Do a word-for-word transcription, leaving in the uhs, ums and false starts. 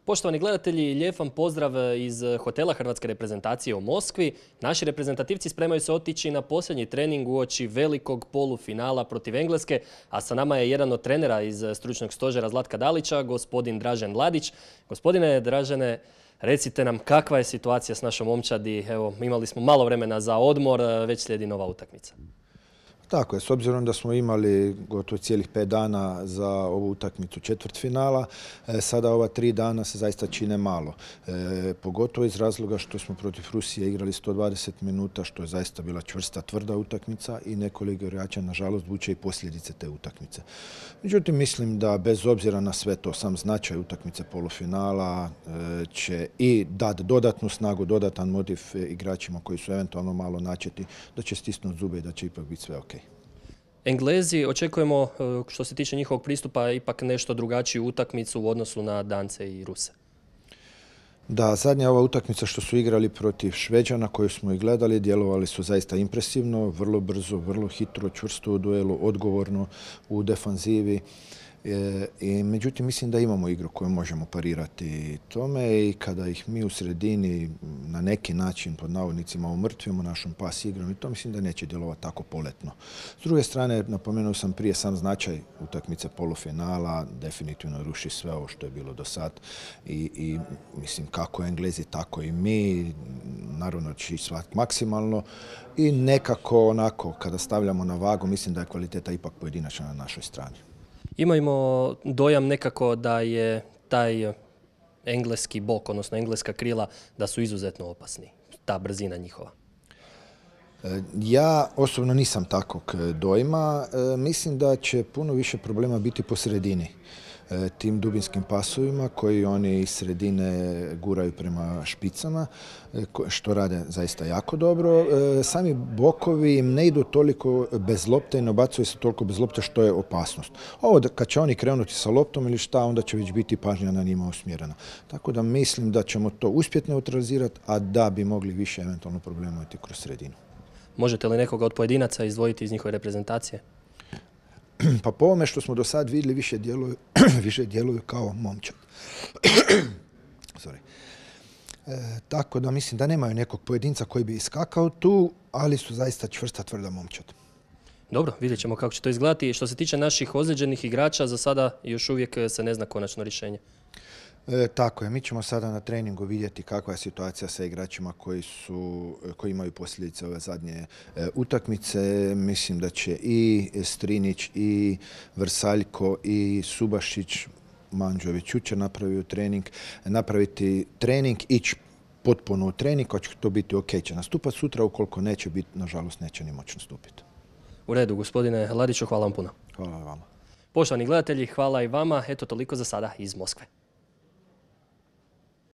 Poštovani gledatelji, lijep vam pozdrav iz hotela Hrvatske reprezentacije u Moskvi. Naši reprezentativci spremaju se otići na posljednji trening uoči velikog polufinala protiv Engleske, a sa nama je jedan od trenera iz stručnog stožera Zlatka Dalića, gospodin Dražen Mladić. Gospodine Dražene, recite nam kakva je situacija s našom momčadi. Evo, imali smo malo vremena za odmor, već slijedi nova utakmica. Tako je, s obzirom da smo imali gotovo cijelih pet dana za ovu utakmicu četvrtfinala, sada ova tri dana se zaista čine malo. E, pogotovo iz razloga što smo protiv Rusije igrali sto dvadeset minuta, što je zaista bila čvrsta, tvrda utakmica i nekoliko igrača, nažalost, vuče i posljedice te utakmice. Međutim, mislim da bez obzira na sve to, sam značaj utakmice polufinala e, će i dati dodatnu snagu, dodatan motiv igračima koji su eventualno malo načeti, da će stisnuti zube i da će ipak biti sve ok. Englezi, očekujemo što se tiče njihovog pristupa ipak nešto drugačiju utakmicu u odnosu na Dance i Ruse. Da, zadnja ova utakmica što su igrali protiv Šveđana koju smo i gledali, djelovali su zaista impresivno, vrlo brzo, vrlo hitro, čvrsto u duelu, odgovorno u defanzivi. E, i, međutim, mislim da imamo igru koju možemo parirati tome i kada ih mi u sredini na neki način, pod navodnicima, umrtvimo našom pas igrom i to mislim da neće djelovati tako poletno. S druge strane, napomenuo sam prije sam značaj utakmice polufinala, definitivno ruši sve ovo što je bilo do sad i, i mislim kako Englezi, tako i mi, naravno će svak maksimalno i nekako onako kada stavljamo na vagu mislim da je kvaliteta ipak pojedinačna na našoj strani. Imamo dojam nekako da je taj engleski bok, odnosno engleska krila, da su izuzetno opasni, ta brzina njihova. Ja osobno nisam takvog dojma. Mislim da će puno više problema biti po sredini. Tim dubinskim pasovima koji oni iz sredine guraju prema špicama, što rade zaista jako dobro. Sami bokovi im ne idu toliko bez lopte i ne obacuju se toliko bez lopte što je opasnost. Ovo kad će oni krenuti sa loptom ili šta, onda će već biti pažnja na njima usmjerena. Tako da mislim da ćemo to uspjeti neutralizirati, a da bi mogli više eventualno problema imati kroz sredinu. Možete li nekoga od pojedinaca izdvojiti iz njihove reprezentacije? Pa po ovome što smo do sad vidjeli više djeluju, više djeluju kao momčad. Sorry. E, tako da mislim da nemaju nekog pojedinca koji bi iskakao tu, ali su zaista čvrsta, tvrda momčad. Dobro, vidjet ćemo kako će to izgledati. Što se tiče naših ozlijeđenih igrača, za sada još uvijek se ne zna konačno rješenje. E, tako je, mi ćemo sada na treningu vidjeti kakva je situacija sa igračima koji, su, koji imaju posljedice ove zadnje e, utakmice. Mislim da će i Strinić, i Vrsaljko, i Subašić, Manđović jučer napravio trening, napraviti trening, ići potpuno u trening, ako će to biti ok, će nastupati sutra, ukoliko neće biti, nažalost, neće ni moći nastupiti. U redu, gospodine Ladiću, hvala vam puno. Hvala vama. Poštovani gledatelji, hvala i vama. Eto, toliko za sada iz Moskve.